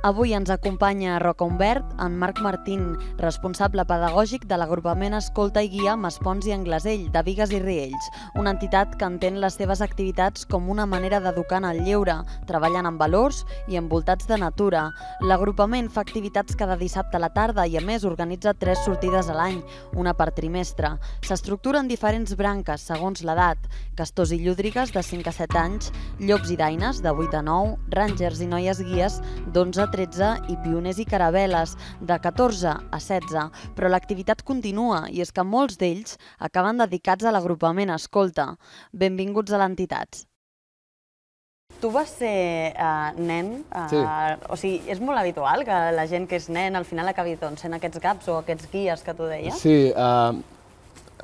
Avui ens acompanya a Roca Umbert en Marc Martín, responsable pedagògic de l'agrupament Escolta i Guia Maspons i Anglesell, de Bigues i Riells, una entitat que entén les seves activitats com una manera d'educar en el lleure, treballant amb valors i envoltats de natura. L'agrupament fa activitats cada dissabte a la tarda i a més organitza 3 sortides a l'any, una per trimestre. S'estructura en diferents branques segons l'edat: castors i llúdrigues de 5 a 7 anys, llops i daines de 8 a 9, rangers i noies guies d'11 a 13 i pioners i caravel·les de 14 a 16, però l'activitat continua i és que molts d'ells acaben dedicats a l'agrupament Escolta. Benvinguts a l'entitat. Tu vas ser nen, o sigui, és molt habitual que la gent que és nen al final acabi sent aquests gaps o aquests guies que tu deies? Sí,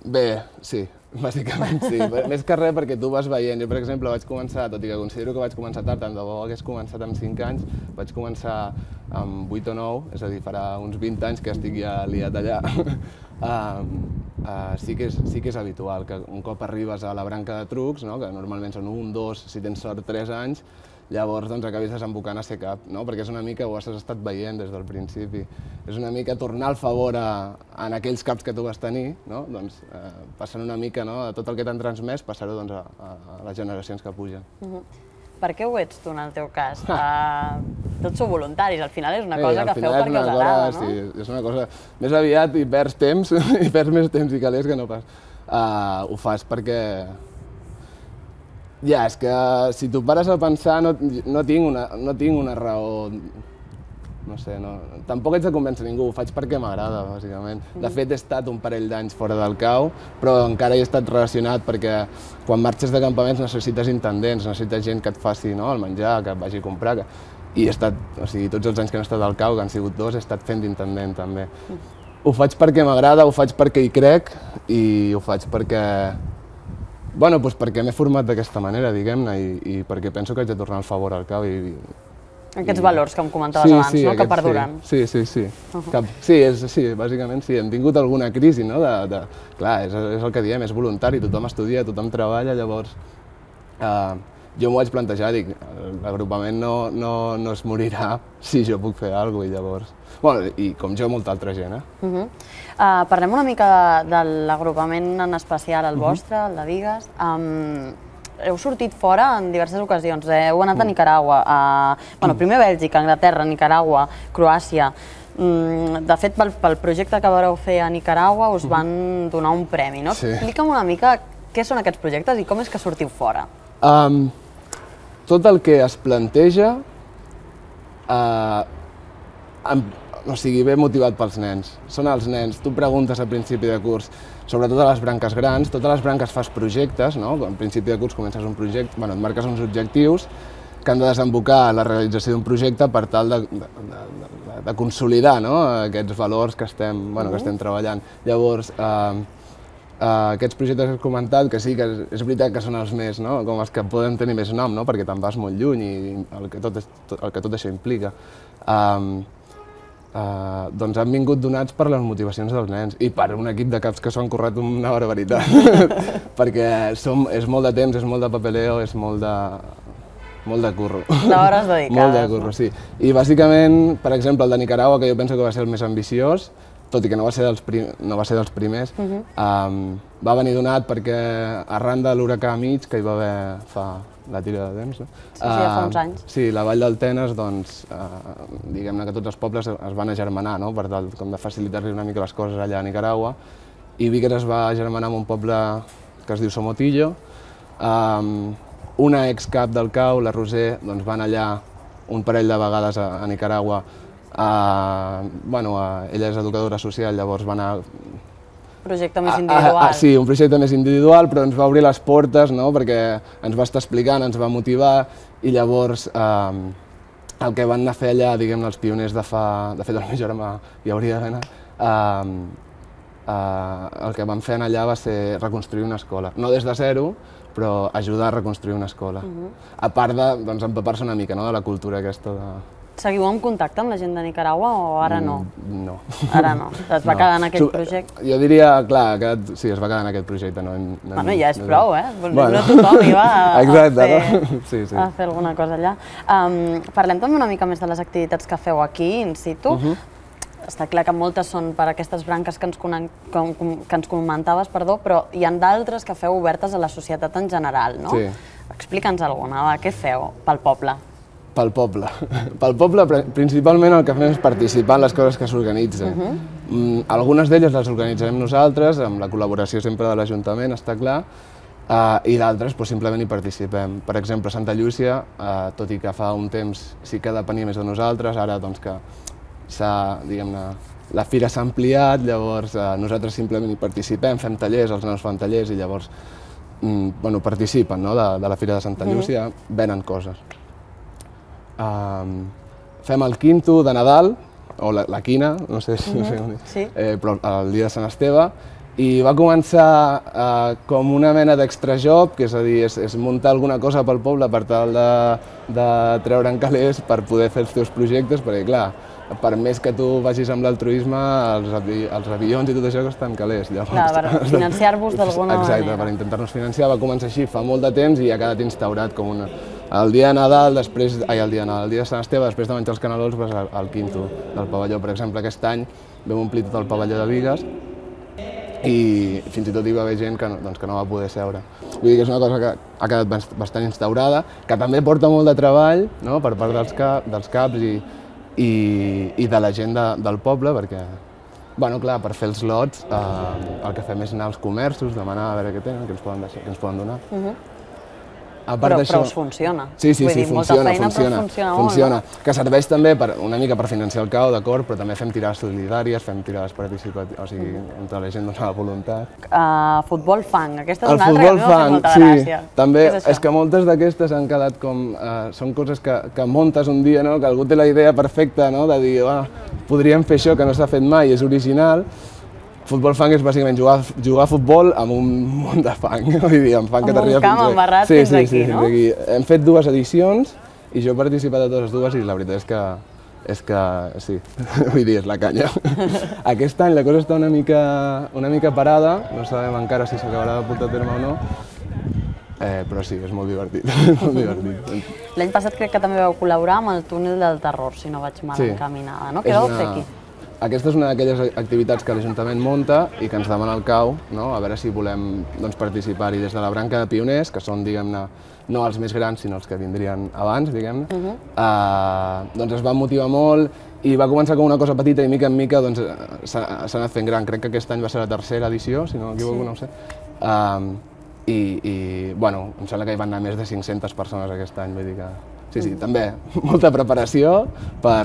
bé, sí, bàsicament sí. Més que res perquè tu vas veient. Jo, per exemple, vaig començar, tot i que considero que vaig començar tard, tant de bo hagués començat amb 5 anys, vaig començar amb 8 o 9, és a dir, farà uns 20 anys que estic ja liat allà. Sí que és habitual que un cop arribes a la branca de trucs, que normalment són 1, 2, si tens sort 3 anys, llavors acabis desembocant a ser cap, perquè és una mica, ho has estat veient des del principi, és una mica tornar el favor en aquells caps que tu vas tenir, passant una mica tot el que t'han transmès, passar-ho a les generacions que pugen. Per què ho ets tu en el teu cas? Tots sou voluntaris, al final és una cosa que feu perquè us agrada, no? Sí, és una cosa, més aviat hi perds temps, hi perds més temps i calés que no pas. Ho fas perquè... Ja, és que si tu pares a pensar no tinc una raó, no sé, tampoc ets de convèncer ningú, ho faig perquè m'agrada, bàsicament. De fet, he estat un parell d'anys fora del cau, però encara hi he estat relacionat perquè quan marxes de campaments necessites intendents, necessites gent que et faci el menjar, que et vagi a comprar, i he estat, o sigui, tots els anys que he estat al cau, que han sigut 2, he estat fent d'intendent també. Ho faig perquè m'agrada, ho faig perquè hi crec i ho faig perquè... Bueno, doncs perquè m'he format d'aquesta manera, diguem-ne, i perquè penso que haig de tornar el favor al cau i... Aquests valors que em comentaves abans, no?, que perduren. Sí. Sí, bàsicament sí. Hem tingut alguna crisi, no? Clar, és el que diem, és voluntari, tothom estudia, tothom treballa, llavors... Jo m'ho vaig plantejar, dic, l'agrupament no es morirà si jo puc fer alguna cosa, i llavors... Bueno, i com jo, molta altra gent, Parlem una mica de l'agrupament en especial, el vostre, el de Bigues. Heu sortit fora en diverses ocasions, heu anat a Nicaragua, primer a Bèlgica, Anglaterra, Nicaragua, Croàcia. De fet, pel projecte que vareu fer a Nicaragua us van donar un premi, no? Explica'm una mica què són aquests projectes i com és que sortiu fora. Tot el que es planteja, o sigui, ve motivat pels nens. Són els nens. Tu preguntes al principi de curs, sobretot a les branques grans, totes les branques fas projectes, no? Al principi de curs comences un projecte, et marques uns objectius que han de desembocar la realització d'un projecte per tal de consolidar aquests valors que estem treballant. Llavors, aquests projectes que has comentat, que sí, que és veritat que són els més, com els que poden tenir més nom, perquè te'n vas molt lluny i el que tot això implica, doncs han vingut donats per les motivacions dels nens i per un equip de caps que s'ho han currat una barbaritat, perquè és molt de temps, és molt de papeleo, és molt de curro. D'hores dedicades. Molt de curro, sí. I bàsicament, per exemple, el de Nicaragua, que jo penso que va ser el més ambiciós, tot i que no va ser dels primers, va venir donat perquè arran de l'huracà Mitch, que hi va haver fa la tira de temps, Sí, fa uns anys. Sí, la vall del Tenes, doncs, diguem-ne que tots els pobles es van agermanar, per tal de facilitar-li una mica les coses allà a Nicaragua, i Bigues es va agermanar amb un poble que es diu Somotillo. Una excap del cau, la Roser, doncs van allà un parell de vegades a Nicaragua. Ella és educadora social, llavors va anar... Projecte més individual. Sí, un projecte més individual, però ens va obrir les portes, perquè ens va estar explicant, ens va motivar, i llavors el que van anar a fer allà, diguem-ne, els pioners de fet el meu germà hi hauria d'anar, el que van fer allà va ser reconstruir una escola. No des de zero, però ajudar a reconstruir una escola. A part d'empapar-se una mica de la cultura aquesta Seguiu en contacte amb la gent de Nicaragua o ara no? No. Ara no. Es va quedar en aquell projecte? Jo diria, clar, sí, es va quedar en aquest projecte. Bueno, ja és prou, no tothom hi va a fer alguna cosa allà. Parlem també una mica més de les activitats que feu aquí, in situ. Està clar que moltes són per aquestes branques que ens comentaves, però hi ha d'altres que feu obertes a la societat en general, no? Sí. Explica'ns alguna, què feu pel poble? Pel poble. Pel poble, principalment el que fem és participar en les coses que s'organitzen. Algunes d'elles les organitzarem nosaltres, amb la col·laboració sempre de l'Ajuntament, està clar, i d'altres simplement hi participem. Per exemple, Santa Llúcia, tot i que fa un temps sí que depenia més de nosaltres, ara doncs que la fira s'ha ampliat, llavors nosaltres simplement hi participem, fem tallers, els nanos fan tallers i llavors participen de la fira de Santa Llúcia, venen coses. Fem el quinto de Nadal, o la quina, no sé com dir, però el dia de Sant Esteve, i va començar com una mena d'extrajob, que és a dir, és muntar alguna cosa pel poble per tal de treure'n calés per poder fer els teus projectes, perquè clar, per més que tu vagis amb l'altruisme, els avions i tot això costen calés. Clar, per financiar-vos d'alguna manera. Exacte, per intentar-nos financiar. Va començar així fa molt de temps i ha quedat instaurat com una... El dia de Nadal, el dia de Sant Esteve, després de menjar els canelons, vas al quinto del pavelló. Per exemple, aquest any vam omplir tot el pavelló de Bigues i fins i tot hi va haver gent que no va poder seure. Vull dir que és una cosa que ha quedat bastant instaurada, que també porta molt de treball per part dels caps i de la gent del poble, perquè, clar, per fer els lots el que fem és anar als comerços, demanar a veure què tenen, què ens poden donar. Però us funciona. Sí, funciona. Que serveix també una mica per financiar el CAO, d'acord, però també fem tirades solidàries, fem tirades participatives, o sigui, entre la gent de la voluntat. Futbol fang, aquesta és una altra que m'ha fet molta gràcia. També, és que moltes d'aquestes han quedat com... Són coses que muntes un dia, que algú té la idea perfecta de dir podríem fer això que no s'ha fet mai, és original. Futbol fang és bàsicament jugar a futbol amb un munt de fang, vull dir, amb fang que t'arriba fins aquí. Amb un camp embarrat fins aquí, no? Hem fet 2 edicions i jo he participat a totes dues i la veritat és que sí, vull dir, és la canya. Aquest any la cosa està una mica parada, no sabem encara si s'acabarà de portar a terme o no, però sí, és molt divertit. L'any passat crec que també vau col·laborar amb el túnel del terror, si no vaig mal encaminada, no? Què vau fer aquí? Aquesta és una d'aquelles activitats que l'Ajuntament munta i que ens demana el CAU, a veure si volem participar-hi des de la branca de pioners, que són, diguem-ne, no els més grans, sinó els que vindrien abans, diguem-ne. Doncs es va motivar molt i va començar com una cosa petita i mica en mica s'ha anat fent gran. Crec que aquest any va ser la 3a edició, si no m'equivoco, no ho sé. I, bueno, em sembla que hi van anar més de 500 persones aquest any, vull dir que... Sí, també, molta preparació per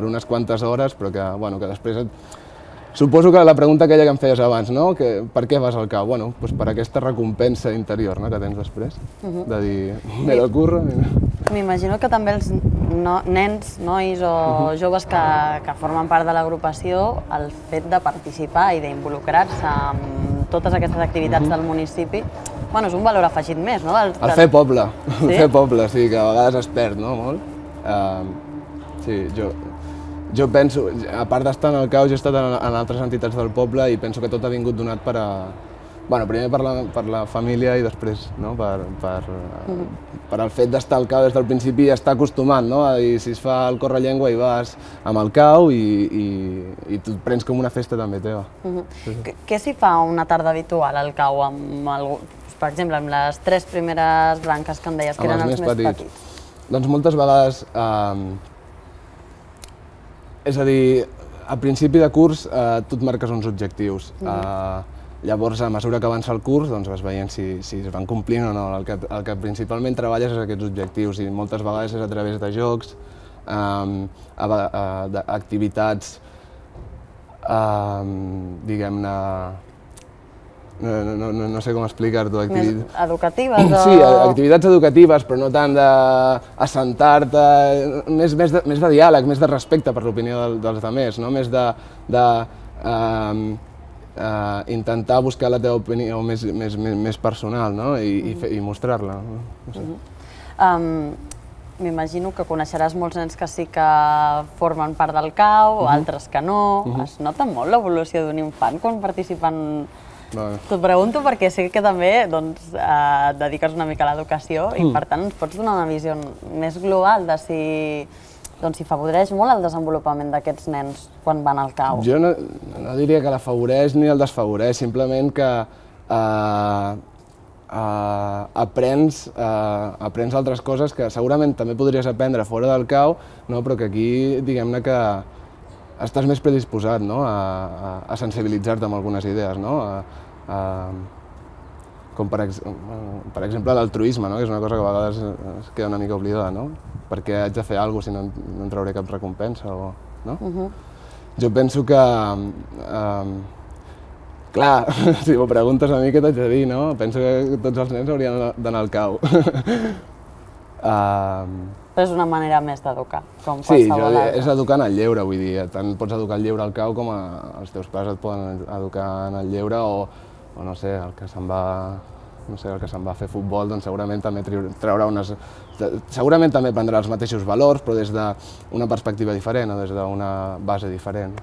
unes quantes hores, però que després... Suposo que la pregunta aquella que em feies abans, no? Per què vas al CAU? Bueno, per aquesta recompensa interior que tens després, de dir, me lo curro... M'imagino que també els nens, nois o joves que formen part de l'agrupació, el fet de participar i d'involucrar-se en totes aquestes activitats del municipi, bueno, és un valor afegit més, no? El fer poble, sí, que a vegades es perd, no? Molt. Sí, jo penso, a part d'estar en el CAU, jo he estat en altres entitats del poble i penso que tot ha vingut donat per a... Bueno, primer per la família i després per el fet d'estar al CAU des del principi i estar acostumat, no? A dir, si es fa el correllengua i vas amb el CAU i tu et prens com una festa també teva. Què s'hi fa una tarda habitual al CAU per exemple, amb les 3 primeres branques que em deies que eren els més petits? Doncs moltes vegades, és a dir, a principi de curs tu et marques uns objectius. Llavors, a mesura que avança el curs, vas veient si es van complint o no. El que principalment treballes és aquests objectius i moltes vegades és a través de jocs, d'activitats, diguem-ne, no sé com explicar-t'ho. Més educatives o...? Sí, activitats educatives, però no tant d'assentar-te, més de diàleg, més de respecte per l'opinió dels altres, més de intentar buscar la teva opinió més personal i mostrar-la. m'imagino que coneixeràs molts nens que sí que formen part del CAU, altres que no. Es nota molt l'evolució d'un infant quan participen? T'ho pregunto perquè sé que també et dediques una mica a l'educació i per tant ens pots donar una visió més global de si favoreix molt el desenvolupament d'aquests nens quan van al CAU. Jo no diria que l'afavoreix ni el desfavoreix, simplement que aprens altres coses que segurament també podries aprendre fora del CAU, però que aquí diguem-ne que estàs més predisposat a sensibilitzar-te amb algunes idees, com per exemple l'altruisme, que és una cosa que a vegades es queda una mica oblidada, perquè haig de fer alguna cosa si no en trauré cap recompensa. Jo penso que, clar, si m'ho preguntes a mi què t'haig de dir, penso que tots els nens haurien d'anar al CAU. Però és una manera més d'educar, com sí, qualsevol altra. És educar en el lleure, vull dir, tant pots educar el lleure al CAU com els teus pares et poden educar en el lleure o no sé, el que se'n va a fer futbol, doncs segurament també traurà segurament també prendrà els mateixos valors, però des d'una perspectiva diferent o des d'una base diferent.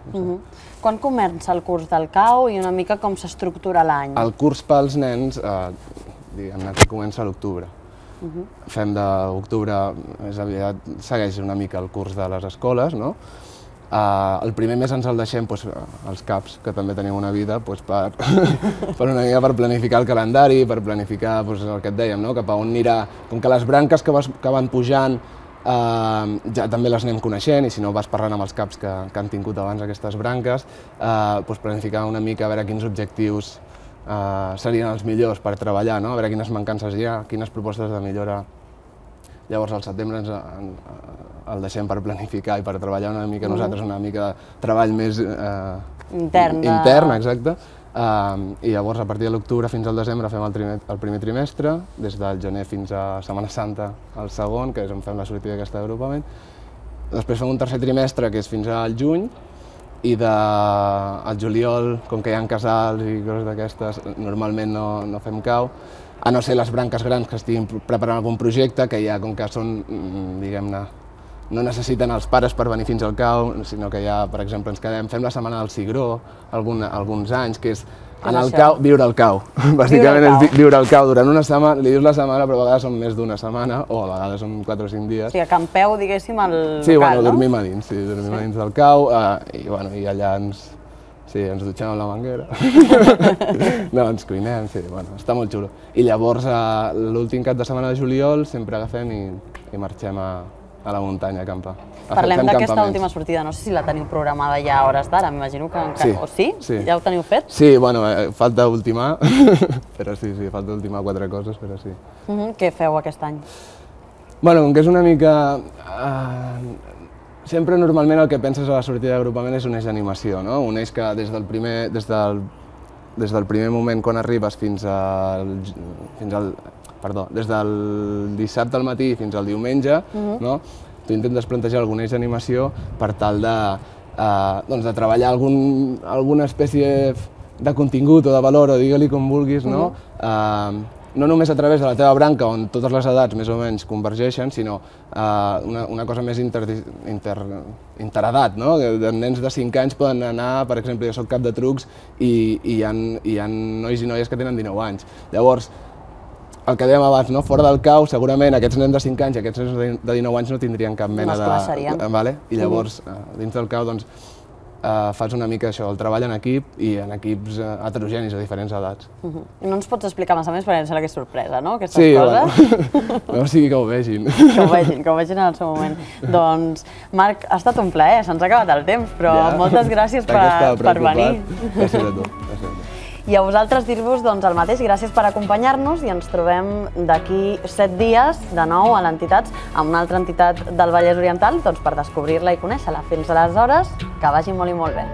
Quan comença el curs del CAU i una mica com s'estructura l'any? El curs pels nens, diguem-ne que comença a l'octubre. Fem d'octubre, més aviat segueix una mica el curs de les escoles, no? El primer mes ens el deixem als CAPs, que també tenim una vida, per una mica per planificar el calendari, per planificar el que et dèiem, cap a on anirà. Com que les branques que van pujant ja també les anem coneixent i si no vas parlant amb els CAPs que han tingut abans aquestes branques, planificar una mica a veure quins objectius serien els millors per treballar, a veure quines mancances hi ha, quines propostes de millora. Llavors al setembre el deixem per planificar i per treballar una mica nosaltres, una mica de treball més intern, exacte. I llavors a partir de l'octubre fins al desembre fem el primer trimestre, des del gener fins a Setmana Santa el segon, que és on fem la sortida d'aquest agrupament. Després fem un tercer trimestre, que és fins al juny, i al juliol, com que hi ha casals i coses d'aquestes, normalment no fem CAU, a no ser les branques grans que estiguin preparant algun projecte, que ja, com que són, diguem-ne, no necessiten els pares per venir fins al CAU, sinó que ja, per exemple, ens quedem, fem la setmana del cigró alguns anys, que és anar al CAU, viure al CAU. Bàsicament és viure al CAU durant una setmana, li dius la setmana, però a vegades són més d'una setmana, o a vegades són 4 o 5 dies. O sigui, acampeu, diguéssim, al local, no? Sí, dormim a dins, dormim a dins del CAU, i allà ens dutxem amb la manguera. No, ens cuinem, està molt xulo. I llavors, l'últim cap de setmana de juliol, sempre agafem i marxem a la muntanya a acampar. Parlem d'aquesta última sortida, no sé si la teniu programada ja a hores d'ara, m'imagino que encara... O sí? Ja ho teniu fet? Sí, falta ultimar, però sí, falta ultimar 4 coses, però sí. Què feu aquest any? Com que és una mica... Sempre normalment el que penses a la sortida d'agrupament és un eix d'animació, un eix que des del primer moment quan arribes des del dissabte al matí fins al diumenge, tu intentes plantejar algun eix d'animació per tal de treballar alguna espècie de contingut o de valor, o digue-li com vulguis, no només a través de la teva branca, on totes les edats més o menys convergeixen, sinó una cosa més interedat, no? Nens de 5 anys poden anar, per exemple, jo soc cap de trucs i hi ha nois i noies que tenen 19 anys. Llavors, el que dèiem abans, fora del CAU, segurament aquests nens de 5 anys i aquests nens de 19 anys no tindrien cap mena de... No es coneixerien. I llavors, dins del CAU, fas una mica això, el treball en equip i en equips heterogenis a diferents edats. I no ens pots explicar massa més perquè em sembla que és sorpresa, no?, aquestes coses. No sigui que ho vegin. Que ho vegin en el seu moment. Doncs, Marc, ha estat un plaer, se'ns ha acabat el temps, però moltes gràcies per venir. Gràcies a tu. I a vosaltres dir-vos el mateix, gràcies per acompanyar-nos i ens trobem d'aquí 7 dies de nou a l'entitat, amb una altra entitat del Vallès Oriental, per descobrir-la i conèixer-la. Fins aleshores, que vagi molt i molt bé.